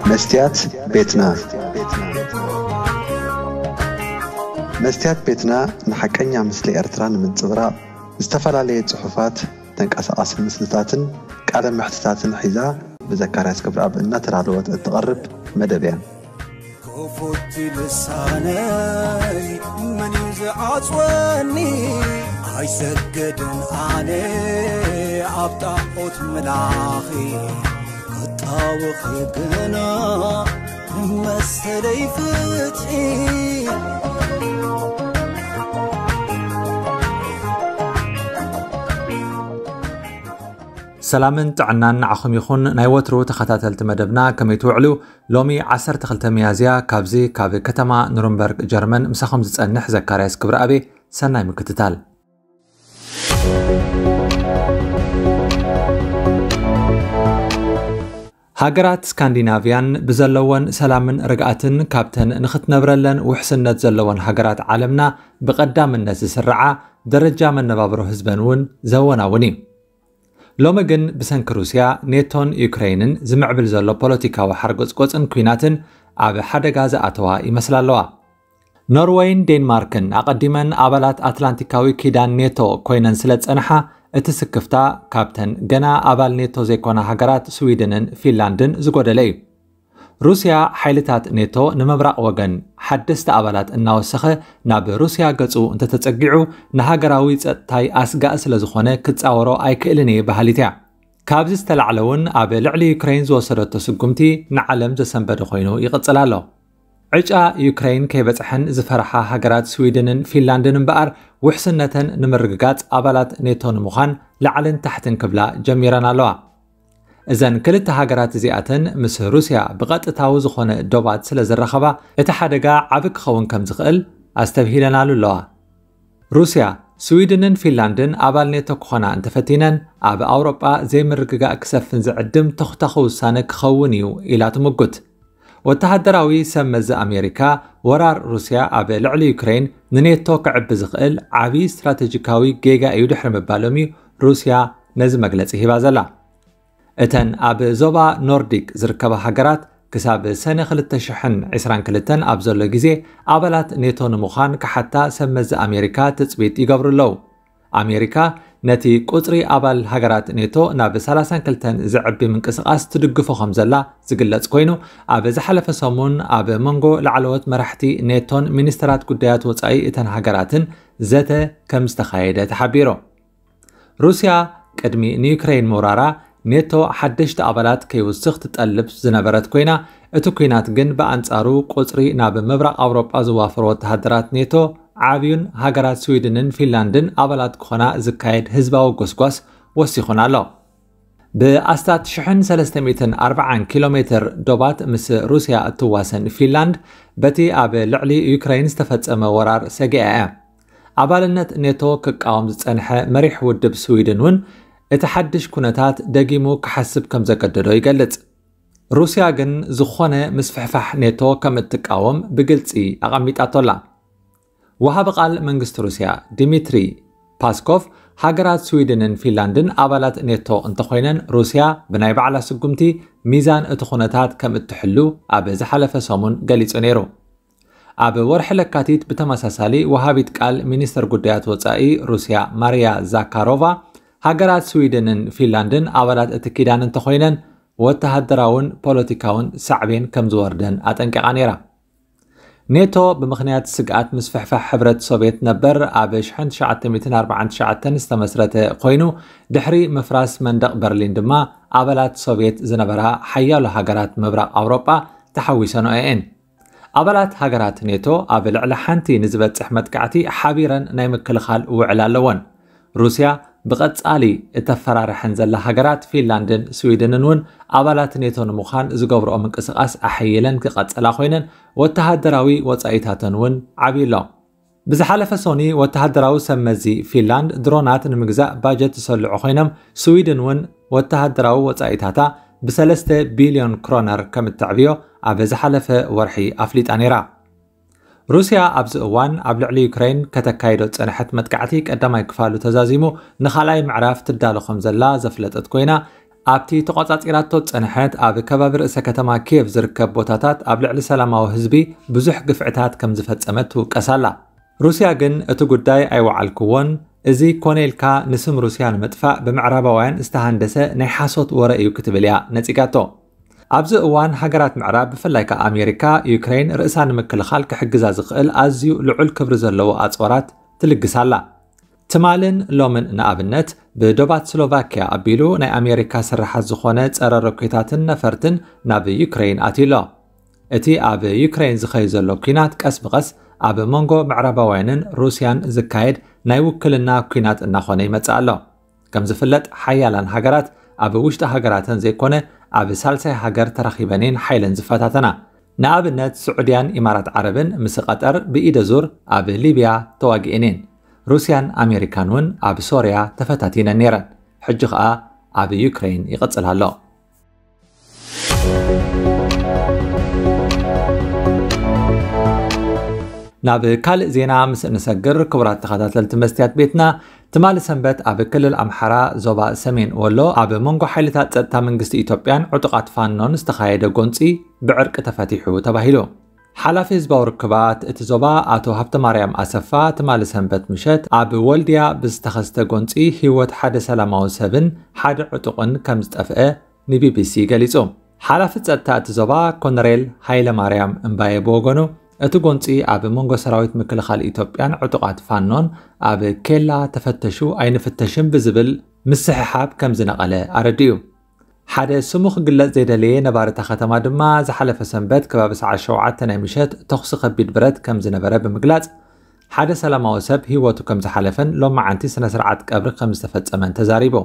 መስትያት ቤትና። መስትያት ቤትና ንሓቀኛ ምስሊ ኤርትራ ንምንጽብራቕ ዝተፈላለየ ጽሑፋት፣ ተንቀሳቓሲ ምስልታትን ቃለ መሕትታትን ሒዛ ብዘካርያስ ክብረኣብ እናተዳለወት እትቐርብ መደብ እያ። ክፉት ልሳነይ መን እዩ ዝዓጽወኒ? ኣይሰግድን ኣነ ኣብ ጣዖት ምላኺ፣ ክጣወኺ ግና መሰለይ ፍትሒ። ሰላምን ጥዕናን ንዓኹም ይኹን። ናይ ወትሩ ተኸታተልቲ መደብና ከመይ ትውዕሉ? ሎሚ ዓሰርተ ክልተ ሚያዝያ ካብዚ ካብ ከተማ ኑርንበርግ ጀርመን ምሳኹም ዝጸንሕ ዘካርያስ ክብረኣብ። ሰናይ ምክትታል። ሃገራት ስካንዲናቭያን ብዘለወን ሰላምን ርግኣትን ካብተን ንኽትነብረለን ውሕስነት ዘለወን ሃገራት ዓለምና ብቐዳምነት ዝስርዓ፣ ደረጃ መነባብሮ ህዝበን እውን ዘወናውን እዩ። ሎሚ ግን ብሰንኪ ሩስያ፣ ኔቶን ዩክሬንን ዝምዕብል ዘሎ ፖለቲካዊ ሓርጎጽጎጽን ኲናትን ኣብ ሓደጋ ዝኣተዋ ይመስላ ኣለዋ። ኖርወይን ዴንማርክን ኣቐዲመን ኣባላት ኣትላንቲካዊ ኪዳን ኔቶ ኮይነን ስለ ዝጸንሓ፣ እቲ ስክፍታ ካብተን ገና ኣባል ኔቶ ዘይኮና ሃገራት ስዊድንን ፊንላንድን ዝጎደለ እዩ። ሩስያ ሓይልታት ኔቶ ንምብራቕ ወገን ሓደስቲ ኣባላት እናወሰኸ ናብ ሩስያ ገጹ እንተተጸጊዑ፣ ንሃገራዊ ጸጥታይ ኣስጋእ ስለ ዝኾነ ክጻወሮ ኣይክእልን እየ በሃሊት እያ። ካብዚ ዝተላዕለ እውን ኣብ ልዕሊ ዩክሬን ዝወሰደቶ ስጉምቲ ንዓለም ዘሰንበደ ኮይኑ ይቕጽል ኣሎ። ዕጫ ዩክሬን ከይበጽሐን ዝፈርሓ ሃገራት ስዊድንን ፊንላንድን እምበኣር፣ ውሕስነተን ንምርግጋጽ ኣባላት ኔቶ ንምዃን ላዕልን ታሕትን ክብላ ጀሚረን ኣለዋ። እዘን ክልተ ሃገራት እዚኣተን ምስ ሩስያ ብቐጥታዊ ዝኾነ ዶባት ስለ ዝራኸባ፣ እቲ ሓደጋ ዓቢ ክኸውን ከም ዝኽእል ኣስተብሂለናሉ ኣለዋ። ሩስያ፣ ስዊድንን ፊንላንድን ኣባል ኔቶ ክኾና እንተፈቲነን፣ ኣብ ኣውሮጳ ዘይምርግጋእ ክሰፍን ዝዕድም ተኹታኺ ውሳነ ክኸውን እዩ ኢላ ትምጉት። ወተሃደራዊ ሰብ መዚ ኣሜሪካ፣ ወራር ሩስያ ኣብ ልዕሊ ዩክሬን ንኔቶ ክዕቢ ዝኽእል ዓቢ ስትራተጂካዊ ጌጋ እዩ ድሕሪ ምባሎም እዩ ሩስያ ነዚ መግለጺ ሂባ ዘላ። እተን ኣብ ዞባ ኖርዲክ ዝርከባ ሃገራት ክሳብ ሰነ ክልተ ሽሕን ዕስራን ክልተን ኣብ ዘሎ ግዜ ኣባላት ኔቶ ንምዃን ክሓታ ሰብ መዚ ኣሜሪካ ትጽቢት ይገብሩ ኣለዉ። ኣሜሪካ ነቲ ቁጽሪ ኣባል ሃገራት ኔቶ ናብ ሰላሳን ክልተን ዘዕቢ ምንቅስቓስ ትድግፎ ከም ዘላ ዝግለጽ ኮይኑ፣ ኣብ ዝሓለፈ ሰሙን ኣብ መንጎ ላዕለዎት መራሕቲ ኔቶን ሚኒስተራት ጉዳያት ወጻኢ እተን ሃገራትን ዘተ ከም ዝተኻየደ ተሓቢሩ። ሩስያ ቅድሚ ንዩክሬን ምውራራ ኔቶ ሓደሽቲ ኣባላት ከይውስኽ ትጠልብ ዝነበረት ኮይና፣ እቲ ኲናት ግን ብኣንጻሩ ቁጽሪ ናብ ምብራቕ ኣውሮጳ ዝዋፈሩ ወተሃደራት ኔቶ ዓብዩን ሃገራት ስዊድንን ፊንላንድን ኣባላት ክኾና ዝካየድ ህዝባዊ ጎስጓስ ወሲኹን ኣሎ። ብኣስታት ሽሕን ሰለስተ ሚእትን ኣርባዓን ኪሎ ሜትር ዶባት ምስ ሩስያ እትዋሰን ፊንላንድ፣ በቲ ኣብ ልዕሊ ዩክሬን ዝተፈጸመ ወራር ሰጊኣ እያ። ኣባልነት ኔቶ ክቃወም ዝጸንሐ መሪሕ ውድብ ስዊድን እውን እቲ ሓድሽ ኩነታት ደጊሙ ክሓስብ ከም ዘገደዶ ይገልጽ። ሩስያ ግን ዝኾነ ምስፍሕፋሕ ኔቶ ከም እትቃወም ብግልጺ ኣቐሚጣቶ ኣላ። ወሃቢ ቃል መንግስቲ ሩስያ ዲሚትሪ ፓስኮቭ፣ ሃገራት ስዊድንን ፊንላንድን ኣባላት ኔቶ እንተኾይነን፣ ሩስያ ብናይ ባዕላ ስጉምቲ ሚዛን እቲ ኩነታት ከም እትሕሉ ኣብ ዝሓለፈ ሰሙን ገሊጹ ነይሩ። ኣብ ወርሒ ለካቲት ብተመሳሳሊ ወሃቢት ቃል ሚኒስተር ጉዳያት ወጻኢ ሩስያ ማርያ ዛካሮቫ፣ ሃገራት ስዊድንን ፊንላንድን ኣባላት እቲ ኪዳን እንተኾይነን፣ ወተሃደራውን ፖለቲካውን ሳዕቤን ከም ዝወርደን ኣጠንቂቓ ነይራ። ኔቶ ብምኽንያት ስግኣት ምስፍሕፋሕ ሕብረት ሶቭየት ነበር ኣብ ሽሕን ትሽዓተ ሚእትን ኣርባዓን ትሽዓተን ዝተመስረተ ኮይኑ፣ ድሕሪ ምፍራስ መንደቕ በርሊን ድማ ኣባላት ሶቭየት ዝነበራ ሓያሎ ሃገራት ምብራቕ ኣውሮጳ ተሓዊሰንኦ እየን። ኣባላት ሃገራት ኔቶ ኣብ ልዕሊ ሓንቲ ንዝበጽሕ መጥቃዕቲ ሓቢረን ናይ ምክልኻል ውዕል ኣለወን። ሩስያ ብቐጻሊ እተፈራርሐን ዘላ ሃገራት ፊንላንድን ስዊድንን እውን ኣባላት ኔቶ ንምዃን ዝገብርኦ ምንቅስቓስ ኣሐይለን ክቐጸላ ኮይነን፣ ወተሃደራዊ ወጻኢታተን እውን ዓብዩ ኣሎ። ብዝሓለፈ ሶኒ ወተሃደራዊ ሰብ መዚ ፊንላንድ ድሮናት ንምግዛእ ባጀት ዝሰልዑ ኮይኖም፣ ስዊድን እውን ወተሃደራዊ ወጻኢታታ ብሰለስተ ቢልዮን ክሮነር ከም እተዕብዮ ኣብ ዝሓለፈ ወርሒ ኣፍሊጣ ነይራ። ሩስያ ኣብዚ እዋን ኣብ ልዕሊ ዩክሬን ከተካይዶ ዝጸንሐት መጥቃዕቲ ቀዳማይ ክፋሉ ተዛዚሙ ንኻልኣይ ምዕራፍ ትዳሎ ከም ዘላ ዘፍለጠት ኮይና፣ ኣብቲ ተቖጻጺራቶ ዝጸንሐት ኣብ ከባቢ ርእሰ ከተማ ኪየቭ ዝርከብ ቦታታት ኣብ ልዕሊ ሰላማዊ ህዝቢ ብዙሕ ግፍዕታት ከም ዝፈጸመት ትውቀስ ኣላ። ሩስያ ግን እቲ ጉዳይ ኣይወዓልክዎን፣ እዚ ኮነ ኢልካ ንስም ሩስያ ንምጥፋእ ብምዕራባውያን ዝተሃንደሰ ናይ ሓሶት ወረ እዩ ክትብል እያ ነጺጋቶ። ኣብዚ እዋን ሃገራት ምዕራብ ብፍላይ ከኣ ኣሜሪካ ዩክሬን ርእሳ ንምክልኻል ክሕግዛ ዝኽእል ኣዝዩ ልዑል ክብሪ ዘለዎ ኣጽዋራት ትልግስ ኣላ። ትማልን ሎምን ንኣብነት ብዶባት ስሎቫኪያ ኣቢሉ ናይ ኣሜሪካ ስራሓት ዝኾነ ጸረ ሮኬታትን ነፈርትን ናብ ዩክሬን ኣትዩ ኣሎ። እቲ ኣብ ዩክሬን ዝኸይ ዘሎ ኲናት ቀስ ብቐስ ኣብ መንጎ ምዕራባውያንን ሩስያን ዝካየድ ናይ ውክልና ኲናት እናኾነ ይመጽእ ኣሎ። ከም ዝፍለጥ ሓያላን ሃገራት ኣብ ውሽጢ ሃገራተን ዘይኮነ ኣብ ሳልሳይ ሃገር ተራኺበን እየን ሓይለን ዝፈታተና። ንኣብነት ስዑድያን ኢማራት ዓረብን ምስ ቀጠር ብኢደ ዙር ኣብ ሊብያ ተዋጊኤን እየን። ሩስያን ኣሜሪካን እውን ኣብ ሶርያ ተፈታቲነን ነይረን። ሕጂ ኸኣ ኣብ ዩክሬን ይቕጽል ኣሎ። ናብ ካልእ ዜና ምስ እንሰግር፣ ክቡራት ተኸታተልቲ መስትያት ቤትና፣ ትማሊ ሰንበት ኣብ ክልል ኣምሓራ ዞባ ሰሜን ወሎ ኣብ መንጎ ሓይልታት ጸጥታ መንግስቲ ኢትዮጵያን ዕጡቓት ፋኖን ዝተኻየደ ጎንጺ ብዕርቂ ተፈቲሑ ተባሂሉ። ሓላፊ ህዝባዊ ርክባት እቲ ዞባ ኣቶ ሃብተማርያም ኣሰፋ ትማሊ ሰንበት ምሸት ኣብ ወልድያ ብዝተኸስተ ጎንጺ ህይወት ሓደ ሰላማዊ ሰብን ሓደ ዕጡቕን ከም ዝጠፍአ ንቢቢሲ ገሊጹ። ሓላፊ ጸጥታ እቲ ዞባ ኮነሬል ሃይለ ማርያም እምባየ ብወገኑ፣ እቲ ጎንጺ ኣብ መንጎ ሰራዊት ምክልኻል ኢትዮጵያን ዕጡቓት ፋኖን ኣብ ኬላ ተፈተሹ ኣይንፍተሽን ብዝብል ምስሕሓብ ከም ዝነቐለ ኣረዲኡ። ሓደ ስሙ ክግለጽ ዘይደለየ ነባሪ እታ ከተማ ድማ ዝሓለፈ ሰንበት ከባቢ ሰዓት ሸውዓተ ናይ ምሸት ተኹሲ ከቢድ ብረት ከም ዝነበረ ብምግላጽ፣ ሓደ ሰላማዊ ሰብ ህይወቱ ከም ዝሓለፈን ሎማዓንቲ ስነ ስርዓት ቀብሪ ከም ዝተፈጸመን ተዛሪቡ።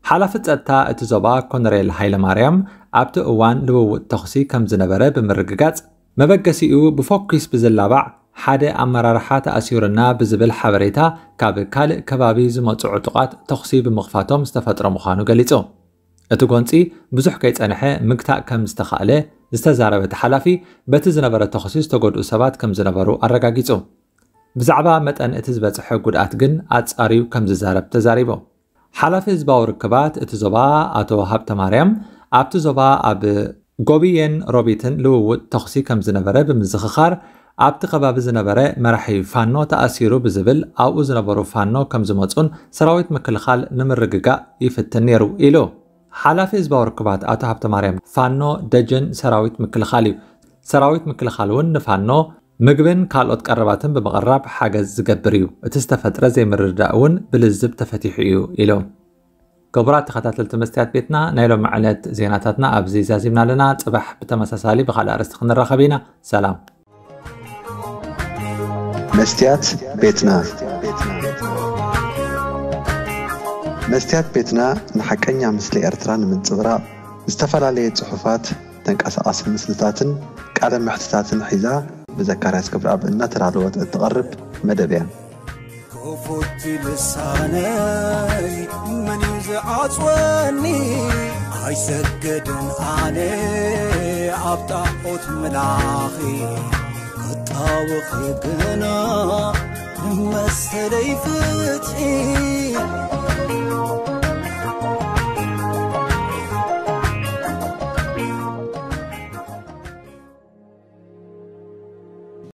ሓላፊ ጸጥታ እቲ ዞባ ኮነሬል ሃይለ ማርያም ኣብቲ እዋን ልውውጥ ተኹሲ ከም ዝነበረ ብምርግጋጽ፣ መበገሲኡ ብፎኪስ ብዝላባዕ ሓደ ኣመራርሓ ተኣሲሩና ብዝብል ሓበሬታ ካብ ካልእ ከባቢ ዝመጹ ዕጡቓት ተኹሲ ብምኽፋቶም ዝተፈጥረ ምዃኑ ገሊጹ። እቲ ጎንጺ ብዙሕ ከይጸንሐ ምግታእ ከም ዝተኻእለ ዝተዛረበ እቲ ሓላፊ፣ በቲ ዝነበረ ተኹሲ ዝተጎድኡ ሰባት ከም ዝነበሩ ኣረጋጊጹ። ብዛዕባ መጠን እቲ ዝበጽሐ ጉድኣት ግን ኣጻርዩ ከም ዝዛረብ ተዛሪቡ። ሓላፊ ህዝባዊ ርክባት እቲ ዞባ ኣቶ ሃብተ ማርያም፣ ኣብቲ ዞባ ኣብ ጎብየን ሮቢትን ልውውጥ ተኹሲ ከም ዝነበረ ብምዝኽኻር፣ ኣብቲ ከባቢ ዝነበረ መራሒ ፋኖ ተኣሲሩ ብዝብል ኣብኡ ዝነበሩ ፋኖ ከም ዝመጹን ሰራዊት ምክልኻል ንምርግጋእ ይፍትን ነይሩ ኢሉ። ሓላፊ ህዝባዊ ርክባት ኣቶ ሃብተ ማርያም፣ ፋኖ ደጀን ሰራዊት ምክልኻል እዩ። ሰራዊት ምክልኻል እውን ንፋኖ ምግብን ካልኦት ቀረባትን ብምቕራብ ሓገዝ ዝገብር እዩ። እቲ ዝተፈጥረ ዘይምርድዳእ እውን ብልዝብ ተፈቲሑ እዩ ኢሉ። ክቡራት ተኸታተልቲ መስትያት ቤትና፣ ናይ ሎሚ ዕለት ዜናታትና ኣብዚ ዛዚምና ኣለና። ጽባሕ ብተመሳሳሊ ብኻልእ ኣርእስቲ ክንራኸብ ኢና። ሰላም። መስትያት ቤትና። መስትያት ቤትና ንሓቀኛ ምስሊ ኤርትራ ንምንጽብራቕ ዝተፈላለየ ጽሑፋት፣ ተንቀሳቓሲ ምስልታትን ቃለ መሕትታትን ሒዛ ብዘካርያስ ገብረኣብ እናተዳለወት እትቐርብ መደብ እያ። ክፉት ልሳነይ መን እዩ ዝዓጽወኒ? ኣይሰግድን ኣነ ኣብ ጣዖት ምላኺ ክጣወኺ ግና መሰለይ ፍትሒ።